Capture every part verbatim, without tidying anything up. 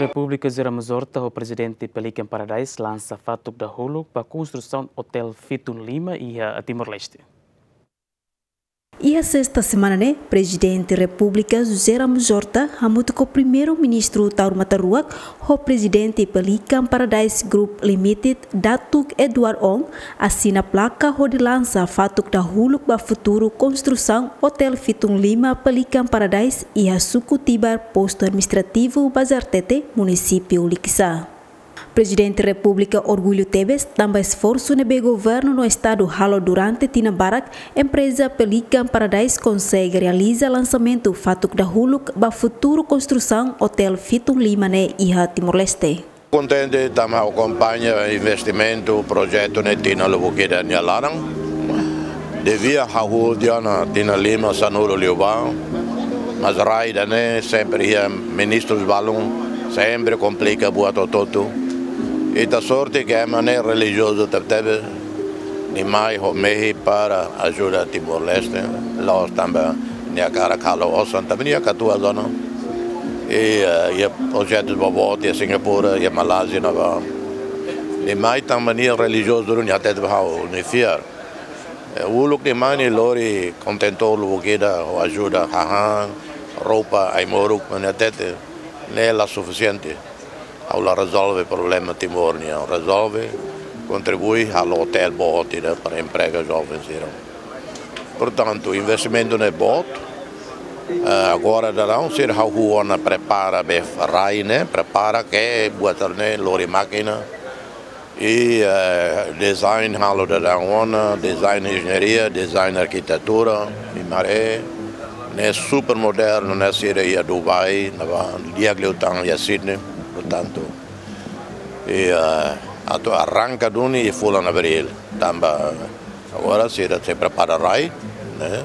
Repúblika José Ramos Horta ho Prezidente Pelican Paradise lansa fatuk dahuluk ba konstrusaun Hotel Fitun Lima iha Timor-Leste. Iha sesta semana ne'e, Prezidente Repúblika José Ramos Horta hamutuk ho Primeiru-Ministru Taur Matan Ruak ho Prezidente Pelican Paradise Group Limited, Datuk Edward Ong, asina plaka hodi lansa fatuk dahuluk ba futuru konstrusaun Hotel Fitun Lima Pelican Paradise iha Suku Tibar, Postu Administrativu Bazartete, Munisípiu Likisá. Prezidente Repúblika orgullu tebes tanba esforsu ne'ebé governu no estadu halo durante tinan barak, empreza Pelican Paradise konsege realiza lansamentu fatuk dahuluk ba futuru konstrusaun Hotel Fitun Lima ne'e iha Timor-Leste. Kontente tanba akompaña investimentu, projetu ne'e tinan lubuk ida nia laran. Devia hahú tiha ona tinan lima sanulu liubá. Mas rai ida-ne'e sempre iha ministrus balun, sempre komplika buat hotu-hotu. Ita sorte ke ema ne'e relijiozu tebetebes, nia mai ho mehi para ajuda Timor-Leste, la'ós tanba nia hakarak halo osan, tanba nia katuas ona. I, eh, iha projetus boboot iha Singapura, iha Malázia ne'ebá. Nia mai tanba nia relijiozu, nia hatete ba ha'u, nia fiar. Eh, uluk nia mai nia lori kontentór lubuk ida, ho ajuda hahán, roupa, ai-moruk, mas nia hatete, ne'e la sufisiente. Ha'u la rezolve problema Timor nian, rezolve, kontribui, halo hotel boot ida para emprega joven sira. Portantu, investimentu ne'e boot. Eh, agora daudaun sira hahú ona prepara be rai ne'e, prepara ke buat ne'e lori mákina. I, eh, design halo daudaun ona, design enjeñaria, design arkitetura, i maré, ne'e super modernu, ne'e sira iha Dubai, ne'ebá, di'ak liután iha Sydney, portantu. I, eh, atu arranka duni iha fulan Abríl, tanba agora sira sei prepara rai, ne'e?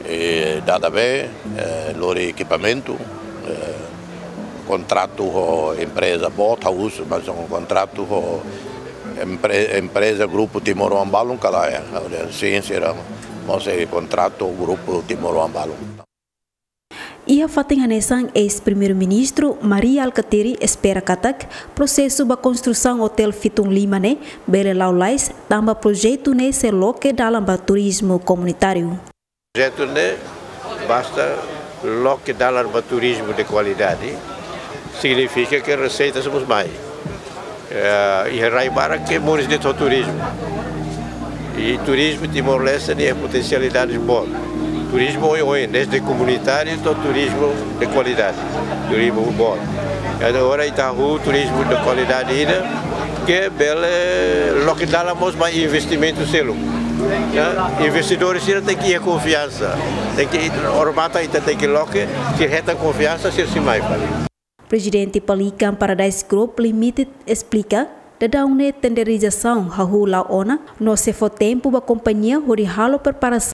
I dada be, eh, lori ekipamentu, eh, kontratu ho empreza boot, ha'u husu, mas um kontratu ho empre-, empreza Grupu Timoroan balun ka lae, sin sira mós iha kontratu Grupu Timoroan balun. Iha fatin hanesan, eis-Primeiru-Ministru Mari Alkatiri espera katak prosesu ba konstrusaun Hotel Fitun Lima ne'e bele la'o lalais, tanba projetu ne'e sei loke dalan ba turizmu komunitáriu. Projetu ne'e basta loke dalan ba turizmu de kualidade, signifika ke reseita sei mós mai. Eh, iha rai barak ke moris de'it ho turizmu. I turizmu Timor-Leste nia potensialidade boot. Turizmu oioin, desde komunitáriu to'o turizmu de kualidade. Turizmu boot. Agora ita hahú turizmu de kualidade ida ke bele loke dalan mós ba investimentu seluk. Ya, investidór sira tenke iha konfiansa. Tenke, odamatan ita tenke loke, sira hetan konfiansa, sira sei mai fali. Prezidente Pelican Paradise Group Limited esplika, daudaun ne'e tenderizasaun hahú la'o ona, no sei fó tempu ba kompañia hodi halo preparasaun